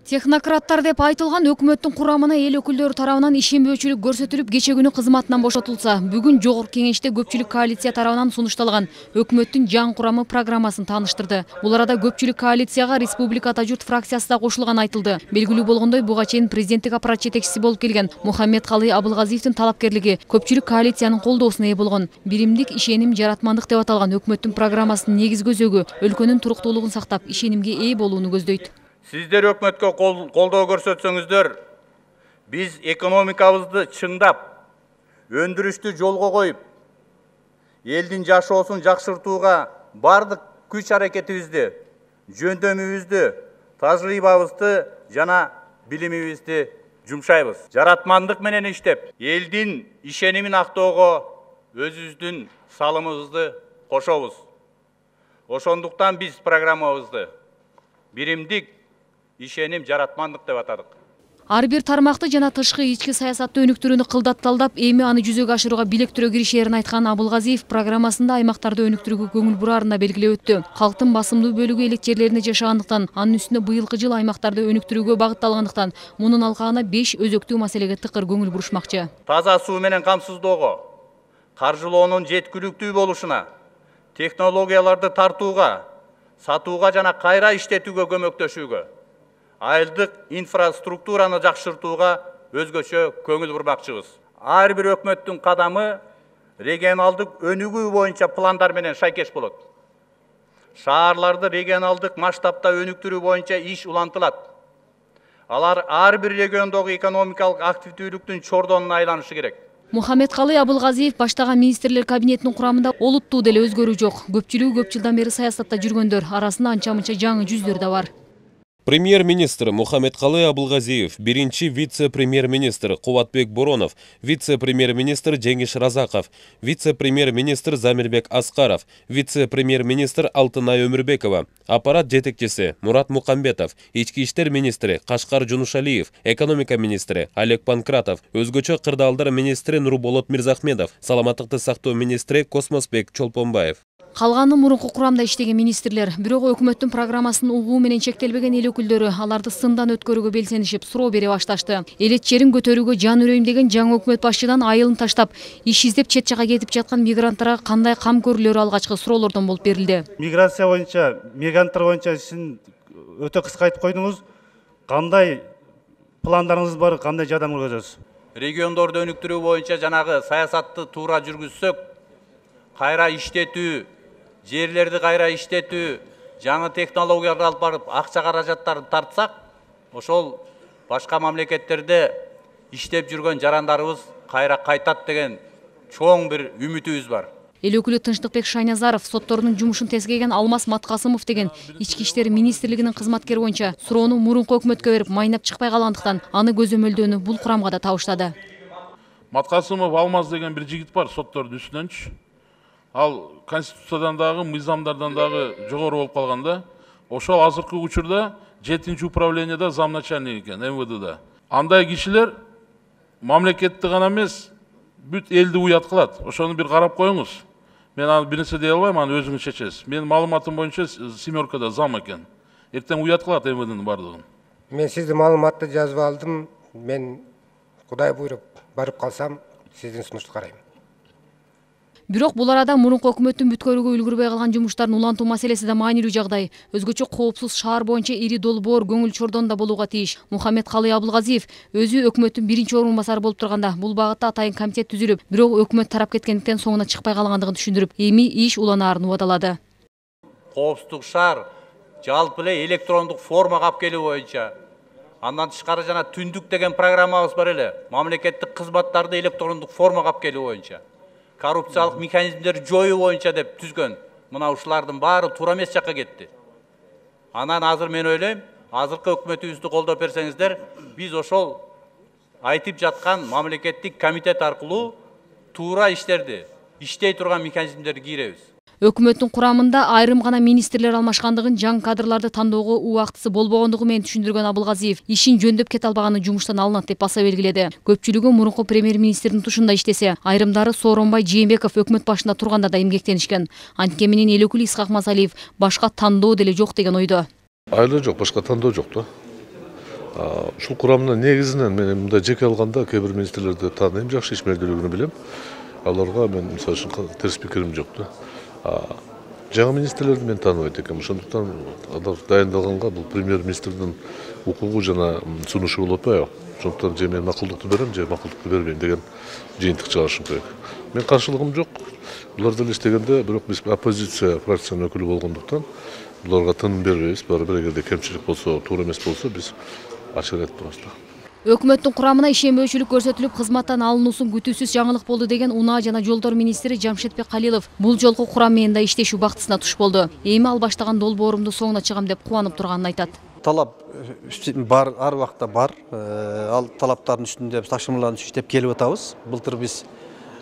Технократтар деп айтылган өкмөттүн курамына эл өкүлдөрү тарабынан ишенбөөчүлүк көрсөтүлүп, кече күнү кызматынан бошотулса, бүгүн жогорку кеңеште көпчүлүк коалиция тарабынан сунушталган өкмөттүн жаңы курамы программасын тааныштырды. Бул арада көпчүлүк коалицияга Республика Ата журт фракциясы да кошулганы айтылды. Белгилүү болгондой, буга чейин президенттик аппарат жетекчиси болуп келген Мухаммедкалый Абылгазиевдин талапкерлиги көпчүлүк коалициянын колдоосуна ээ болгон. Биримдик, ишеним, жаратмандык деп аталган өкмөттүн программасынын негизги өзөгү өлкөнүн туруктуулугун сактап, ишенимге ээ болууну көздөйт. Сиздер өкмөткө колдоо көрсөтсөңүздөр, биз экономикабызды чыңдап, өндүрүштү жолго коюп, элдин жашоосун жакшыртууга бардык күч аракетибизди, жөндөмүбүздү, тажрыйбабызды жана билимибизди жумшайбыз. Жаратмандык менен иштеп, элдин ишенимин актоого өзүбүздүн салымыбызды кошобуз. Ошондуктан биз программабызды биримдик, ишеним, жаратмандык деп атадык. Ар бир тармакты жана тышкы ички саясатты өнүктүрүүнү кылдатталдап, эми аны жүзөгө ашырууга билектирөө киришээрин айткан Абылгазиев программасында аймактарды өнүктүрүүгө көңүл бурарын да белгилеп өттү. Калктын басымдуу бөлүгү элек жерлеринде жашагандыктан, анын үстүнө быйылкы жыл аймактарды өнүктүрүүгө багытталгандыктан, мунун алкагына 5 өзөктүү маселеге тыкыр көңүл бурушмакчы. Таза суу менен камсыздоого, каржылоонун жеткиликтүү болушуна, технологияларды тартууга, сатууга жана кайра иштетүүгө көмөктөшүүгө, айылдык инфраструктураны жакшыртууга өзгөчө көңүл бурмакчыбыз. Ар бир өкмөттүн кадамы регионалдык өнүгүү боюнча пландар менен шайкеш болот. Шаарларды регионалдык масштабта өнүктүрүү боюнча иш улантылат. Алар ар бир региондогу экономикалык активдүүлүктүн чордонуна айланышы керек. Мухаммедкалый Абылгазиев баштаган министрлер кабинетинин курамында олуттуу деле өзгөрүү жок. Көпчүлүгү көп жылдан бери саясатта жүргөндөр, арасында анча-мынча жаңы жүздөр да бар. Премьер-министр Мухаммедкалый Абылгазиев, биринчи вице-премьер-министр Кубатбек Боронов, вице-премьер-министр Жеңиш Разаков, вице-премьер-министр Замирбек Аскаров, вице-премьер-министр Алтынай Өмүрбекова, аппарат жетекчиси Мурат Мукамбетов, ички иштер министри Кашкар Жунушалиев, экономика министри Олег Панкратов, өзгөчө кырдаалдар министри Нурболот Мирзахмедов, саламаттыкты сактоо министри Космосбек Чолпонбаев. Калганы мурунку курамда иштеген министрлер, бирок өкмөттүн программасын угуу менен чектелбеген эл өкүлдөрү аларды сындан өткөрүүгө белсенишип, суроо бере башташты. Элет жерин көтөрүүгө жан үрөйм деген жаңы өкмөт башчыдан айылын таштап, иш издеп чет жакка кетип жаткан мигранттарга кандай кам көрүлөрү алгачкы суроолордон болуп берилди. Миграция боюнча, мигранттар боюнча сиз өтө кыска айтып койдуңуз. Кандай пландарыңыз бар, кандай жардам көрсөтөсүз? Региондорду өнүктүрүү боюнча жанагы саясатты туура жүргүзсөк, кайра иштетүү, жерлерди кайра иштетүү, жаңы технологияларды алып барып, акча каражаттарын тартсак, ошол башка мамлекеттерде иштеп жүргөн жарандарыбыз кайра кайтат деген чоң бир үмүтүбүз бар. Эл өкүлү Тынчтыкбек Шайназаров соттордун жумушун тескеген Алмаз Маткасымов деген ички иштер министрлигинин кызматкери боюнча суроону мурунку өкмөткө берип майнап чыкпай калгандыктан, аны көзөмөлдөөнү бул курамга да табыштады. Маткасымов Алмаз деген бир жигит бар соттордун үстүнөнчү. Ал конституциядан дагы, мыйзамдардан дагы жогору болуп калганда, ошол азыркы учурда 7-нчи управленияда замначальник экен МВДда. Андай кишилер мамлекетти гана эмес, бүт элди уят кылат. Ошону бир карап коюңуз. Мен аны бир нерсе дей албайм, аны өзүңүз чечесиз. Менин маалыматым боюнча семеркада зам экен. Эртең уят кылат МВДнын бардыгын. Мен сиздин маалыматты жазып алдым. Мен Кудай буйруп барып калсам, сиздин сунушту карайм. Бирок бул арада мурунку өкмөттүн бүткөрүүгө үлгүрбөй калган жумуштарын улантуу маселеси да маанилүү жагдай. Өзгөчө коопсуз шаар боюнча ири долбоор көңүл чордонда болууга тийиш. Мухаммедкалый Абылгазиев өзү өкмөттүн биринчи орун басары болуп турганда, бул багытта атайын комитет түзүлүп, бирок өкмөт тарап кеткендиктен соңуна чыкпай калгандыгын түшүндүрүп, эми иш уланаарын убадалады. Коопсуздук шаар жалпы эле электрондук формага алып келүү боюнча, андан тышкары жана түндүк деген программабыз бар эле. Мамлекеттик кызматтарды электрондук формага алып келүү боюнча, коррупциялык механизмдерди жоюу боюнча деп түзгөн. Мына ушулардын баары туура эмес жакка кетти. Анан азыр мен ойлойм, азыркы өкмөтүбүздү колдоп берсеңиздер, биз ошол айтып жаткан мамлекеттик комитет аркылуу туура иштерди, иштей турган механизмдерди кийребиз. Өкмөттүн курамында айрым гана министрлер алмашкандыгын, жаңы кадрларды тандоого убактысы болбогондугу менен түшүндүргөн Абылгазиев ишин жөндөп кете албаганы жумуштан алынат деп баса белгиледи. Көпчүлүгү мурунку премьер-министрдин тушунда иштесе, айрымдары Сооронбай Жээнбеков өкмөт башында турганда да эмгектенишкен. Антке менен эл өкүлү Исхак Масалиев башка тандоо деле жок деген ойдо. Айла жок, башка тандоо жок да. Ушул курамына негизинен мен мындай жеке алганда кээ бир министрлерди тааныйм, жакшы ишмердүүлүгүн билем. Аларга мен мисалы үчүн терс пикирим жок да. Жаңы министрлерди мен тааныбайт экенмин. Ошондуктан алар дайындалганга бул премьер-министрдин укугу жана сунушу болуп атпайбы? Ошондуктан же мен макулдукту берем, же макулдукту бербейм деген жыйынтык чыгарышым керек. Мен каршылыгым жок. Булар деле иштегенде, бирок биз оппозиция фракциянын өкүлү болгондуктан буларга тыным бербейбиз. Баары бир эгерде кемчилик болсо, туура эмес болсо биз ачык айтып турабыз да. Өкмөттүн курамына ишенбөөчүлүк көрсөтүлүп, кызматтан алынуусун күтүүсүз жаңылык болду деген Унаа жана жолдор министри Жамшетбек Калилов бул жолку курам менен да иштешүү бактысына туш болду. Эми ал баштаган долбоорумду соңуна чыгам деп кубанып турганын айтат. Талап бар, ар убакта бар. Ал талаптардын үстүндө биз тапшырмаларды иштеп келип атабыз. Былтыр биз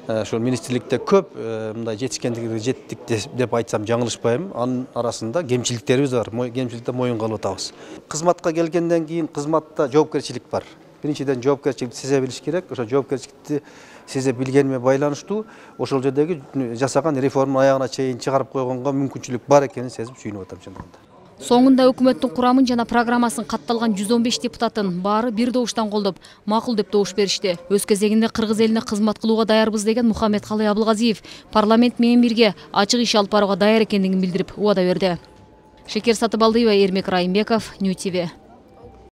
ошол министрликте көп мындай жетишкендикке жеттик деп айтсам жаңылышпайм. Анын арасында кемчиликтерибиз бар. Кемчиликти моюнга алып атабыз. Кызматка келгенден кийин кызматта жоопкерчилик бар. Биринчиден жоопкерчиликти сезе билиш керек. Ошо жоопкерчиликти сезе билгениме байланыштуу ошол жердеги жасаган реформа аягына чейин чыгарып койгонго мүмкүнчүлүк бар экенин сезип сүйүнүп атам чындыгында. Соңунда өкмөттүн курамын жана программасын катталган 115 депутаттын баары бир добуштан колдоп, макул деп добуш беришти. Өз кезегинде кыргыз элине кызмат кылууга даярбыз деген Мухаммедкалый Абылгазиев парламент менен бирге ачык иш алып барууга даяр экендигин билдирип убада берди. Шекер Сатыбалдыева, Эрмек Райымбеков, Нью ТВ.